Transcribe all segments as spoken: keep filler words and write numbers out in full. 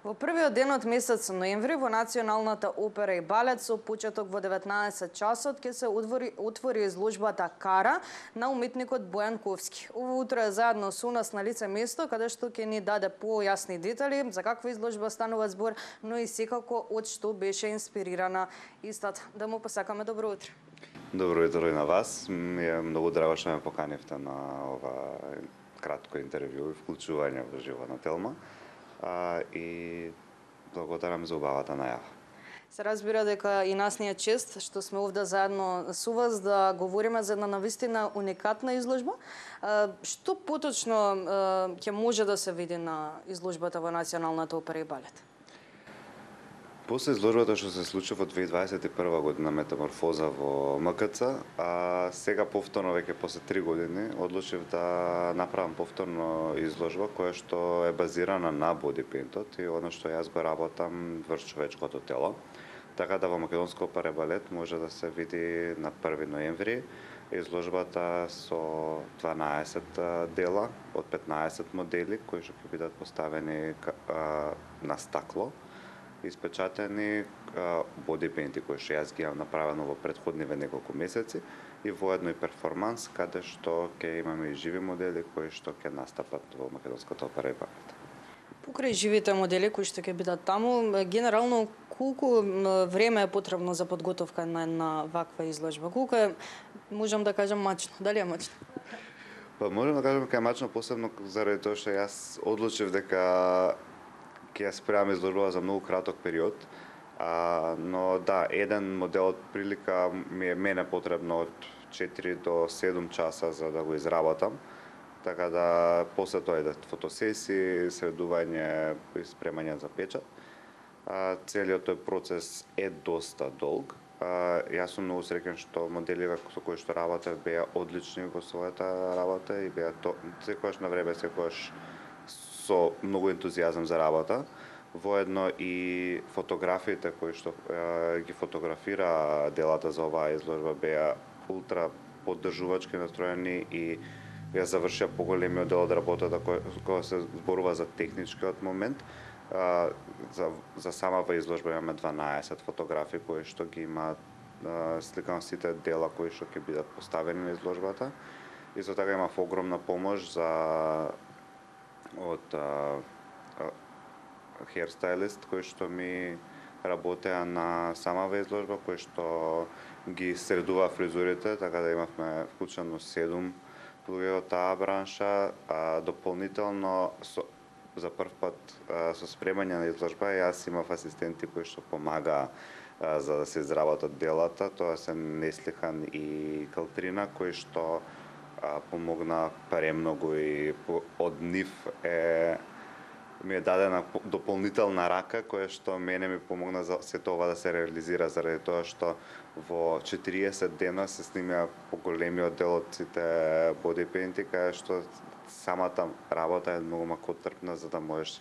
Во првиот ден од месец ноември во Националната опера и балет со почеток во деветнаесет часот ќе се отвори, отвори изложбата Кара на уметникот Бојан Ковски. Ово утро е заедно со нас на лице место каде што ќе ни даде појасни детали за каква изложба станува збор, но и секако од што беше инспирирана истата. Да му посакаме добро утро. Добро утро и на вас. Ми е многу драго што ме поканивте на ова кратко интервју и вклучување во живо на Телма. А, и благодарам за убавата најава. Се разбира дека и нас ни е чест што сме овде заедно со вас да говориме за една навистина уникатна изложба. А, што поточно ќе може да се види на изложбата во Националната опера и балет? После изложбата што се случи во две илјади дваесет и прва година Метаморфоза во М К Ц, а сега повторно веќе после три години одлучив да направам повторно изложба која што е базирана на бодипейнтот и оно што јас го работам врз човечкото тело. Така да во Македонска опера и балет може да се види на први ноември изложбата со дванаесет дела од петнаесет модели кои што ќе бидат поставени на стакло, испечатени бодипейнти кои што јас ги имам направено во претходниве неколку месеци и воедно и перформанс каде што ќе имаме и живи модели кои што ќе настапат во Македонската опера и балет. Покрај живите модели кои што ќе бидат таму, генерално колку време е потребно за подготовка на една ваква изложба? Колку е, можам да кажам, мачно? Дали е мачно? Па можам да кажам дека е мачно, посебно заради тоа што јас одлучив дека ќе ја спремам изложбава за многу краток период, а, но да, еден модел од прилика ми е мене потребно од четири до седум часа за да го изработам, така да после тоа идат фотосесии, средување и спремање за печат. А, целиот тој процес е доста долг. А, јас сум многу среќен што моделиве со кои што работев беа одлични во својата работа и беа то, секогаш на време, секогаш со многу ентузијазам за работа. Воедно и фотографиите кои што е, ги фотографира делата за оваа изложба беа ултра поддржувачки настроени и ја завршија поголемиот дел од работата која, која се зборува за техничкиот момент. А, за, за самава изложба имаме дванаесет фотографии кои што ги имаат сликано сите дела кои што ќе бидат поставени на изложбата. Исто така имав огромна помош за од херстайлист кој што ми работеа на самава изложба, кој што ги средува фризурите, така да имавме вклучено седум луѓе од таа бранша, а дополнително со, за прв пат а, со спремање на изложба јас имав асистенти кои што помагаа а, за да се изработат делата, тоа се Неслихан и Калтрина кои што а, помогна премногу и по, од нив е ми е дадена дополнителна рака која што мене ми помогна за сето ова да се реализира заради тоа што во четириесет дена се снимија поголемиот дел од сите бодипейнти кај што самата работа е многу макотрпна за да можеш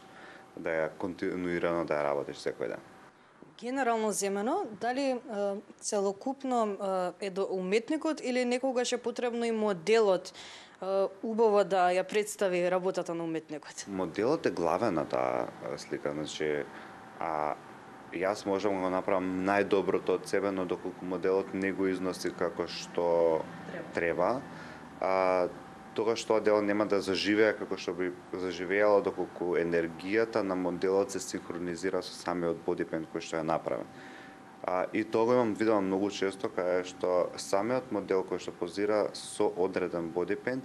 да ја континуирано да ја работиш секој ден. Генерално земено, дали е, целокупно е до уметникот или некогаш е потребно и моделот убаво да ја представи работата на уметникот? Моделот е главен на таа слика, значи а јас можам да го направам најдоброто од себе, но доколку моделот не го износи како што треба, а тогаш тоа дело нема да заживее како што би заживеело доколку енергијата на моделот се синхронизира со самиот бодипейнт кој што е направен. А, и тоа го имам видено многу често, кај што самиот модел кој што позира со одреден бодипейнт,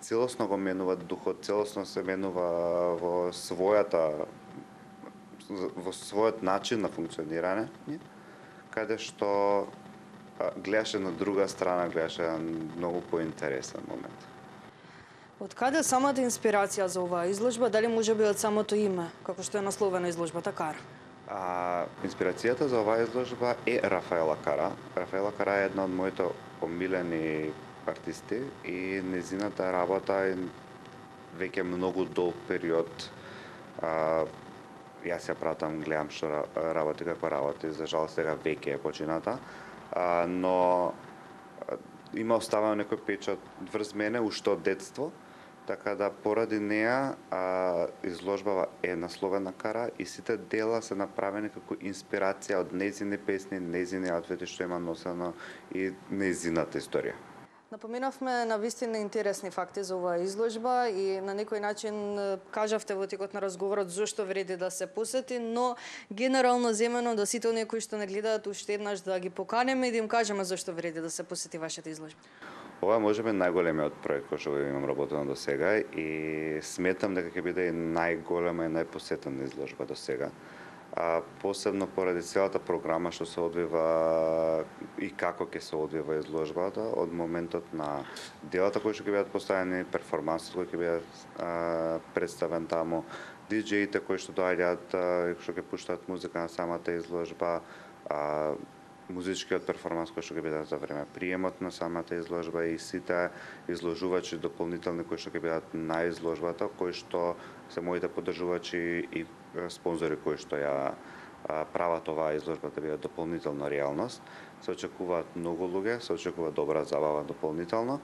целосно го менува духот, целосно се менува во својата во својот начин на функционирање, каде што а, гледаше на друга страна, гледаше на многу поинтересен момент. Од каде самата инспирација за оваа изложба, дали може би од самото име, како што е насловена изложбата Кара? А, инспирацијата за оваа изложба е Рафаела Кара. Рафаела Кара е една од моите помилени артисти и незината работа е веќе многу долг период. А, јас ја пратам, гледам што работи, како работи, за жал сега веќе е почината, а, но има оставено некој печат врз мене уште од детство така да поради неа а, изложбава е насловена Кара и сите дела се направени како инспирација од нејзини песни, нејзини аутфити што има носено и нејзината историја. Напоминавме на вистина интересни факти за оваа изложба и на некој начин е, кажавте во текот на разговорот зошто вреди да се посети, но генерално земено да сите оние кои што не гледаат уште еднаш да ги поканеме и да им кажеме зошто вреди да се посети вашата изложба. Ова може би најголемиот проект кој што го имам работено до сега и сметам дека ќе биде и најголема и најпосетена изложба до сега. А, посебно поради целата програма што се одвива и како ќе се одвива изложбата, од моментот на делата кои што ќе бидат поставени, перформансот кој ќе бидат а, представен таму, диџеите кои што доаѓаат и што ќе пуштаат музика на самата изложба, а, музичкиот перформанс кој што ќе биде за време приемот на самата изложба и сите изложувачи дополнителни кои што ќе бидат на изложбата, кои што се моите поддржувачи и спонзори кои што ја прават оваа изложба да биде дополнително реалност. Се очекуваат многу луѓе, се очекува добра забава дополнително,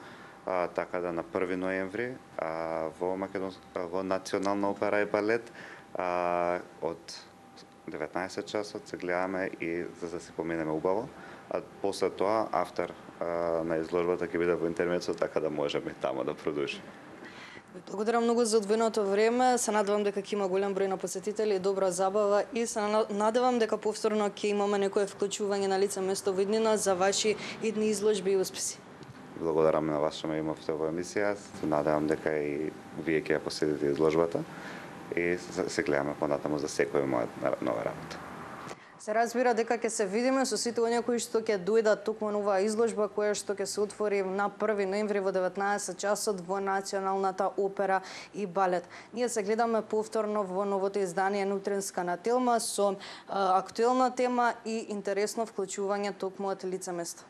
а, така да на први ноември а, во Македонс... во Национална опера и балет а, од деветнаесет часот се гледаме и за да се поминеме убаво, а после тоа автор а, на изложбата ќе биде во интермецо, така да можеме таму да продолжиме. Ви благодарам многу за одвоеното време. Се надевам дека ќе има голем број на посетители и добра забава и се надевам дека повторно ќе имаме некое вклучување на лице место во иднина за ваши идни изложби и успеси. Благодарам на вас што ме имавте во емисија. Се надевам дека и вие ќе ја посетите изложбата и се гледаме понатаму за секоја моја нова работа. Се разбира дека ќе се видиме со сите оние кои што ќе дојдат токму на оваа изложба која што ќе се отвори на први ноември во деветнаесет часот во Националната опера и балет. Ние се гледаме повторно во новото издание на Утринска на Телма со а, актуелна тема и интересно вклучување токму од лице место.